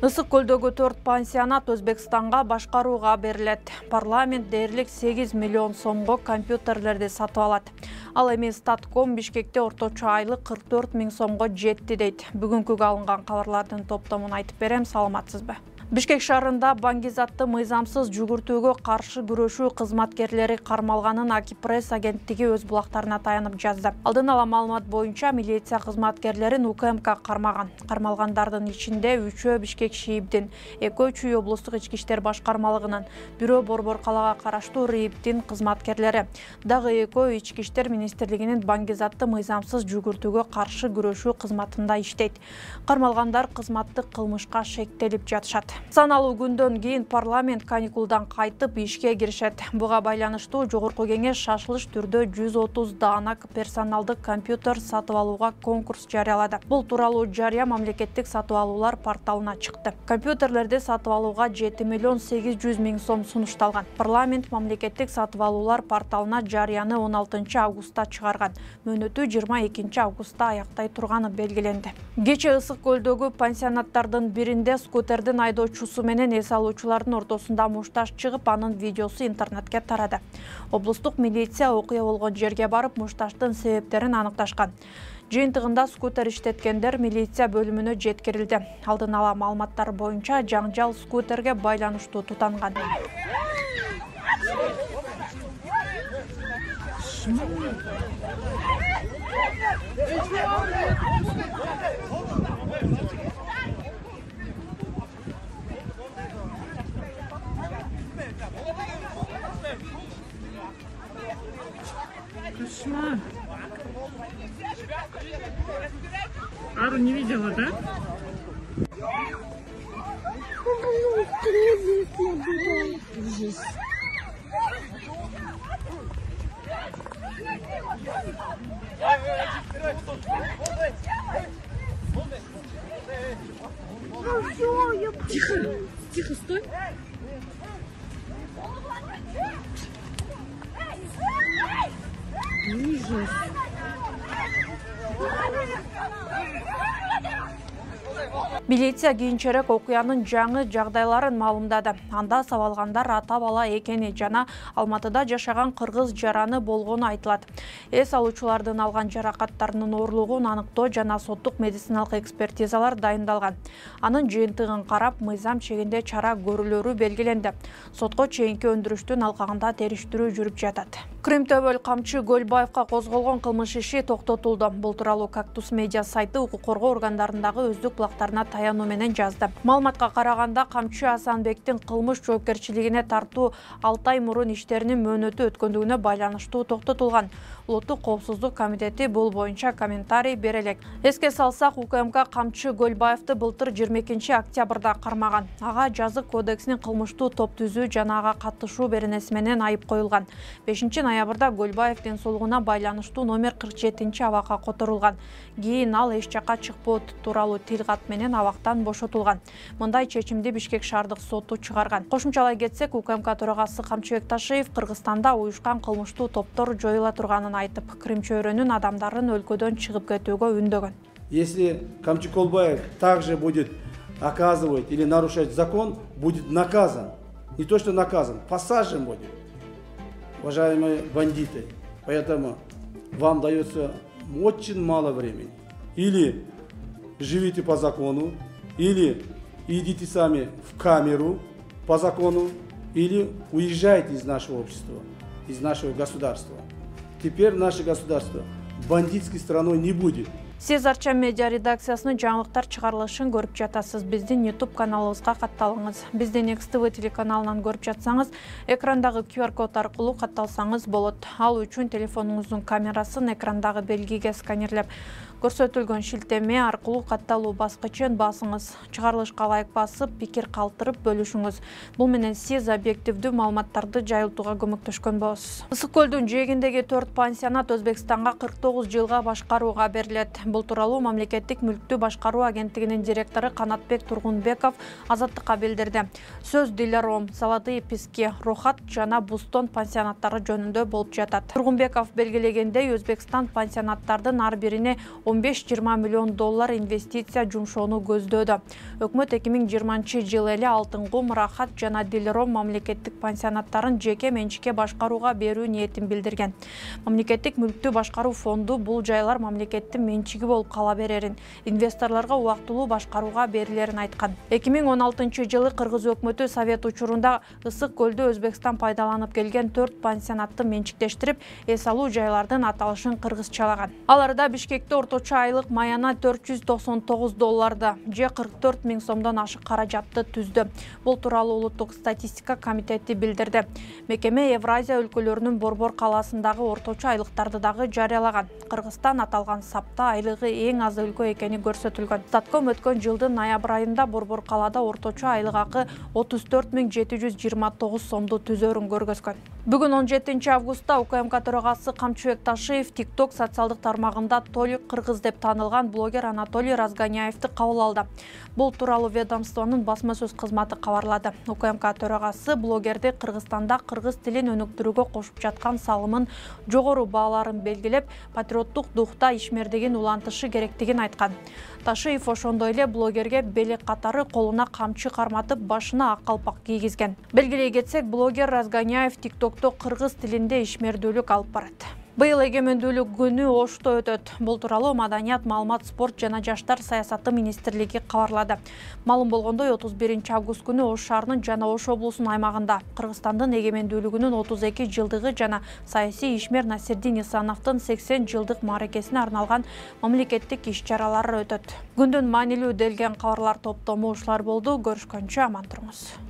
Ысык көлдөгү 4 пансионат Өзбекстанга башкарууга берилет. Парламент дээрлик 8 миллион сомго компьютерлерди сатып алат. Ал эми Статком Бишкекте орточо айлык 44 миң сомго жетти дейт. Бүгүнкү алынган кабарлардын топтомун айтып берем, саламатсызбы? Бишкек шаарында баңгизатты мыйзамсыз жүгүртүүгө каршы күрөшүү кызматкерлери кармалганын Акипресс агенттиги өз булактарына таянып жазды. Алдын ала маалымат боюнча милиция кызматкерлерин УКМК кармаган. Кармалгандардын ичинде 3-өө Бишкек ШИИБдин, 2-өө Чүй облустук ички иштер башкармалыгынын, 1-өө Борбор калаага караштуу РИИБдин кызматкерлери, дагы 2-өө Ички иштер министрлигинин баңгизатты мыйзамсыз жүгүртүүгө каршы күрөшүү кызматында иштейт. Кармалгандар кызматтык кылмышка шектелип жатышат. Саналуу күндөн кийин парламент каникулдан кайтып ишке киришет. Буга байланыштуу жогорку кеңеш шашылыш түрдө 130 даана персоналдык компьютер сатып алууга конкурс жарыялады. Бул тууралуу жарыя мамлекеттик сатып алуулар порталына чыкты. Компьютерлерди сатып алууга 7 миллион 800 миң сом сунушталган. Парламент мамлекеттик сатып алуулар порталына жарыяны 16 августта чыгарган. Мөөнөтү 22 августта аяктай турганы белгиленди. Кечээ Ысык көлдөгү пансионаттардын биринде скутердин айдоочусу менен эс алуучулардын ортосунда мушташ чыгып, анын видеосу интернетке тарады. Облустук милиция окуя болгон жерге барып, мушташтын себептерин аныкташкан. Жыйынтыгында скутер иштеткендер милиция бөлүмүнө жеткирилди. Алдын ала маалыматтар боюнча жаңжал скутерге байланыштуу тутанган. Кошмар. Ару не видела, да? Ужас. Тихо, тихо, стой. Ужас. Милиция кийинчерээк окуянын жаңы жагдайларын маалымдады. Анда сабалгандар ата бала экени жана Алматыда жашаган кыргыз жараны болгону айтылат. Эс алуучулардын алган жаракаттарынын оорлугун аныктоо жана соттук медициналык экспертизалар дайындалган. Анын жыйынтыгын карап, мыйзам чегинде чара көрүлөрү белгиленди. Сотко чейинки өндүрүштүн алкагында териштирүү жүрүп жатат. Крымтөбөл камчы Гөлбаевка козголгон кылмыш иши токтотулду. Бул тууралуу Кактус медиа сайты укук коргоо органдарындагы өздүк булактарына таянуу менен жазды. Маалыматка караганда, камчы Асанбектин кылмыш жоопкерчилигине тартуу 6 ай мурун иштеринин мөөнөтү өткөндүгүнө байланыштуу токтотулган. Улуттук коопсуздук комитети бул боюнча комментарий бере элек. Эске салсак, УКМК камчы Гөлбаевди былтыр 22 октябрда кармаган. Ага жазык кодексинин кылмыштуу топ түзүү жана ага катышуу беренеси менен айып коюлган. 5 ноябрда Гөлбаевдин соолугуна байланыштуу номер 47 абакка которулган. Кийин ал эч жакка чыкпоо тууралуу тил кат менен абактан бошотулган. Мындай чечимди Бишкек шаардык соту чыгарган. Кошумчалай кетсек, УКМК төрагасы Камчыбек Ташиев Кыргызстанда уюшкан кылмыштуу топтор жоюла турганын айтып, Крым чөйрөнүн адамдарын өлкөдөн чыгып кетүүгө үндөгөн. Если Камчы Гөлбаев также будет оказывать или нарушать закон, будет наказан. Не то что наказан, посажен будет, уважаемые бандиты. Поэтому вам дается очень мало времени. Или живите по закону, или идите сами в камеру по закону, или уезжайте из нашего общества, из нашего государства. Теперь наше государство бандитской страной не будет. Сиз Арча медиа редакциясынын жаңылыктар чыгарылышын көрүп жатасыз. Биздин YouTube каналыбызга катталыңыз. Биздин XTV телеканалынан көрүп жатсаңыз, экрандагы QR код аркылуу катталсаңыз болот. Ал үчүн телефонуңуздун камерасын экрандагы белгиге сканерлеп, көрсөтүлгөн шилтеме аркылуу катталуу баскычын басыңыз. Чыгарылышка лайк басып, пикир калтырып бөлүшүңүз. Бул менен сиз объективдүү маалыматтарды жайылтууга көмөктөшкөн болосуз. Ысык көлдүн жээгиндеги 4 пансионат Өзбекстанга 49 жылга башкарууга берилет. Бул тууралуу мамлекеттик мүлктү башкаруу агенттигинин директору Канатбек Тургунбеков Азаттыкка билдирди. Сөз Диляром, Золотые Пески, Рохат жана Бустон пансионаттары жөнүндө болуп жатат. Тургунбеков белгилегендей, Өзбекстан пансионаттардын ар бирине 15-20 миллион доллар инвестиция жумшоону көздөөдө. Өкмөт 2020 эле Алтын кум, Рахат жана Диляром мамлекеттик пансионаттарын жеке менчикке башкарууга берүү ниетин билдирген. Мамлекеттик мүлктү башкаруу фонду бул жайлар мамлекеттин менчиги болуп кала берерин, инвесторлорго убактылуу башкарууга берилерин айткан. 2016 Кыргыз өкмөтү Совет учурунда Ысык көлдө Өзбекстан пайдаланып келген 4 пансионатты менчиктештирип, эс алуу жайлардын аталышын кыргызчалаган. Аларда Бишкекте орточо айлык маяна $499 же 44 000 сомдон ашык каражатты түздү. Бул тууралуу Улуттук статистика комитети билдирди. Мекеме Евразия өлкөлөрүнүн Борбор калаасындагы орточо айлыктарды дагы жарыялаган. Кыргызстан аталган сапта айлыгы эң аз өлкө экени көрсөтүлгөн. Статком өткөн жылдын ноябрь айында Борбор калаада орточо айлык акы 34 729 сомду түзөрүн көргөзгөн. Бүгүн 17 августта УКМК төрагасы Камчыбек Ташиев TikTok социалдык тармагында Толик кыргыз деп таанылган блогер Анатолий Разгоняевди кабыл алды. Бул тууралуу ведомствонун басма сөз кызматы кабарлады. УКМК төрагасы блогерди Кыргызстанда кыргыз тилин өнүктүрүүгө кошуп жаткан салымын жогору бааларын белгилеп, патриоттук духта ишмердигин улантышы керектигин айткан. Ташиев ошондой эле блогерге белек катары колуна камчы карматып, башына ак калпак кийгизген. Белгилей кетсек, блогер Разгоняев TikTokто кыргыз тилинде ишмердүүлүк алып барат. Быйыл эгемендүүлүк күнү Ошто өтөт. Бул тууралуу Маданият, маалымат, спорт жана жаштар саясаты министрлиги кабарлады. Маалым болгондой, 31 август күнү Ош шаарынын жана Ош облусунун аймагында Кыргызстандын эгемендүүлүгүнүн 32 жылдыгы жана саясий ишмер Насирдин Исановдун 80 жылдык мааракесине арналган мамлекеттик иш-чаралар өтөт. Күндүн маанилүү делген кабарлар топтому ушулар болду. Көрүшкөнчө аман туруңуз.